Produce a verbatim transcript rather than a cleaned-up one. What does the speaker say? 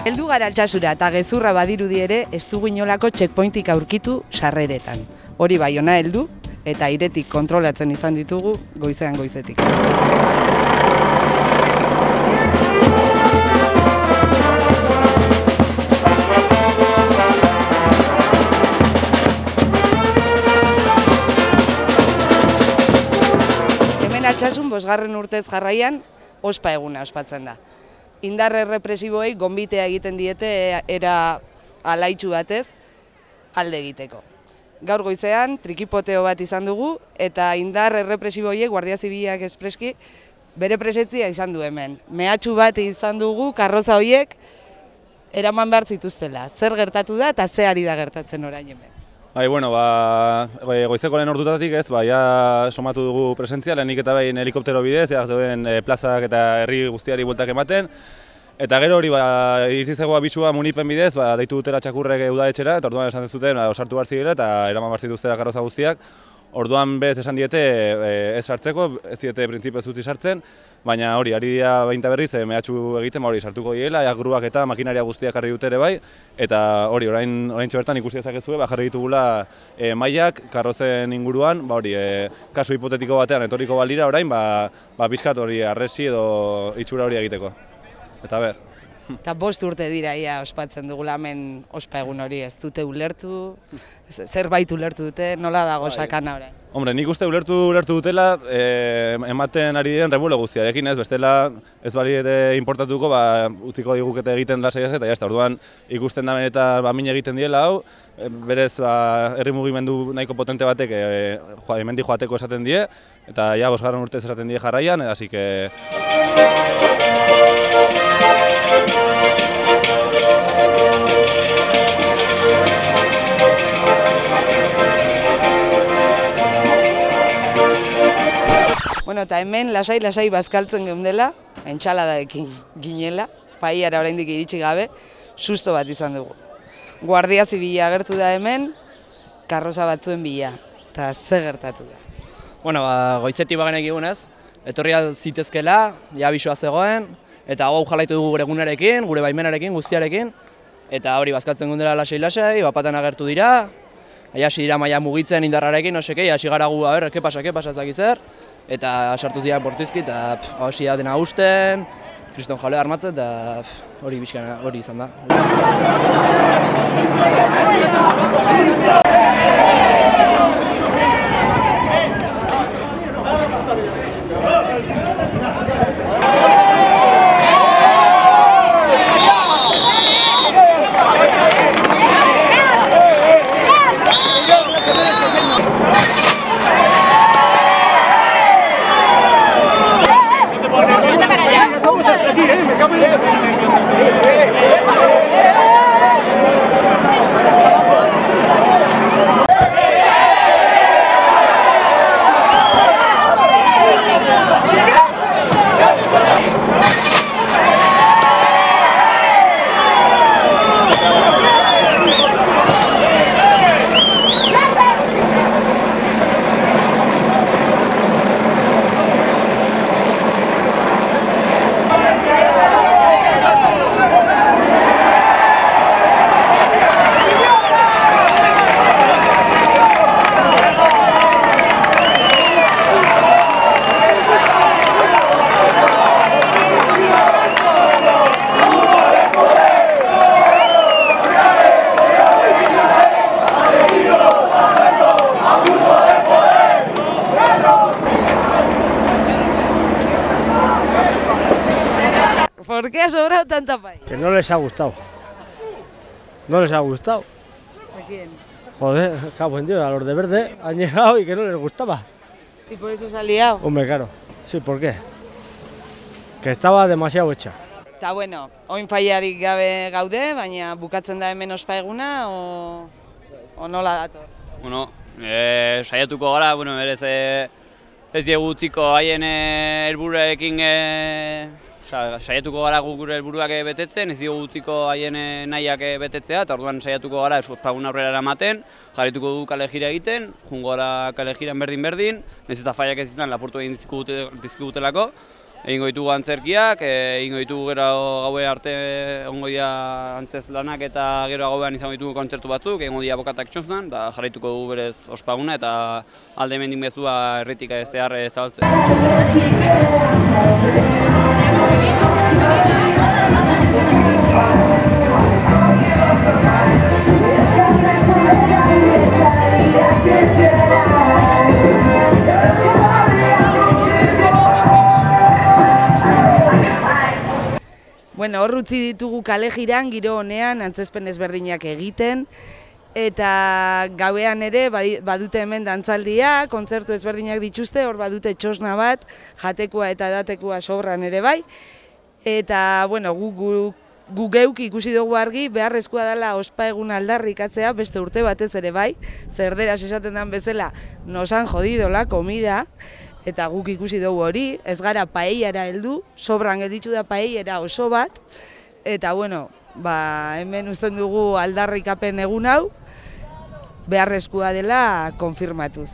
Heldu gara Altsasura eta gezurra badirudi ere ez dugu inolako checkpointik aurkitu sarreretan. Hori bai ona heldu eta airetik kontrolatzen izan ditugu goizean goizetik. Hemen Altsasun bosgarren urtez jarraian ospa eguna ospatzen da. Indar errepresiboei gonbitea egiten diete era alaitsu batez alde egiteko. Gaur goizean trikipoteo bat izan dugu eta indar errepresiboiek Guardia Zibilak espreski bere presentzia izan du hemen. Mehatxu bat izan dugu karroza horiek eraman behar zituztela. Zer gertatu da eta ze ari da gertatzen orain hemen. Bai, bueno, ba, goizeko lehen ordutatik ez, ba, ja somatu dugu presentzia, lehenik eta behin helikoptero bidez, ja zeuden e, plazak eta herri guztiari bueltak ematen. Eta gero hori, ba, izizegoa bitxua munipen bidez, ba, deitu dutela txakurrek udaletxera, eta orduan esan zuten ba, osartu behar zirela eta eraman behar zituztela karroza guztiak. Orduan bez esan diete e, ez sartzeko, ez diete printzipioz utzi sartzen, baina hori, ari dira bainta berriz, e, mehatxu egiten, hori sartuko diela, ja, gruak eta makinaria guztiak jarri dute ere bai, eta hori, orain, orain bertan ikusi dezakezue, ba, jarri ditugula e, mailak karrozen inguruan, ba, hori, e, kasu hipotetiko batean etorriko balira orain, ba, ba, pixkat hori arresi edo itxura hori egiteko. Eta ber. Eta bost urte dira ia ospatzen dugula hemen ospa egun hori, ez dute ulertu, zerbait ulertu dute, nola dago sakana orain? Hombre, nik uste ulertu ulertu dutela eh, ematen ari diren rebuelo guztiarekin, ez, bestela ez bali ere importatuko, ba, utziko digukete egiten lasai ez, eta jazta, orduan ikusten da benetan ba, min egiten diela hau, berez ba, herri mugimendu nahiko potente batek e, joa, hemendik joateko esaten die, eta ja bosgarren urtez esaten die jarraian, eta así que... Bueno, eta hemen lasai-lasai bazkaltzen geundela, entxaladarekin ginela, paiara oraindik iritsi gabe, susto bat izan dugu. Guardia Zibila agertu da hemen, karroza batzuen bila, eta ze gertatu da. Bueno, ba, goizetik bagenek egunez, etorri zitezkela, ja bisoa zegoen, eta hau jalaitu dugu gure egunarekin, gure baimenarekin, guztiarekin, eta hori bazkaltzen geundela lasai-lasai, bapatan agertu dira, hasi dira maila mugitzen indarrarekin, osekei, hasi gara gu, a ber, ke pasa, ke pasa, ez dakiz zer, eta sartu ziren bortizki, eta hasi da dena usten, kriston jale armatzen, eta hori bizkana, hori izan da. ¿Por qué ha sobrado tanta paella? Que no les ha gustado. No les ha gustado. ¿A quién? Joder, cabo en Dios, a los de verde han llegado y que no les gustaba. ¿Y por eso se ha liado? Hombre, claro. Sí, ¿por qué? Que estaba demasiado hecha. Eta bueno, oin faiarik gabe gaude, baina bukatzen da hemen ospa eguna, o, o nola dator? Bueno, e, saiatuko gara, bueno, berez e, ez diegu utziko haien helburuarekin e, saiatuko gara gure helburuak betetzen, ez diegu utziko haien nahiak betetzea, eta orduan saiatuko gara ospagun aurrera eramaten, jarrituko du kale jira egiten, jungo gara kale jiran berdin-berdin, nahiz eta faiak ez izan lapurtu egin dizkigutelako. egingo ditugu antzerkiak, egingo ditugu gero gauen arte ongo dira antzez lanak eta gero gauean izango ditugu kontzertu batzuk, egingo dira bokatak txosnan, eta jarraituko dugu berez ospaguna eta alde hemendik mezua herritik zehar zabaltzen. Bueno, hor utzi ditugu kale jiran, giro honean, antzezpen ezberdinak egiten, eta gauean ere badute hemen dantzaldia, kontzertu ezberdinak dituzte, hor badute txosna bat, jatekoa eta edatekoa sobran ere bai, eta, bueno, gu, gu, gu geuk ikusi dugu argi, beharrezkoa dela ospa egun aldarrikatzea, beste urte batez ere bai, zerderaz esaten den bezala, nos han jodido la comida, eta guk ikusi dugu hori, ez gara paellara heldu, sobran gelditu da paellara oso bat, eta bueno, ba, hemen uzten dugu aldarrikapen egun hau, beharrezkoa dela konfirmatuz.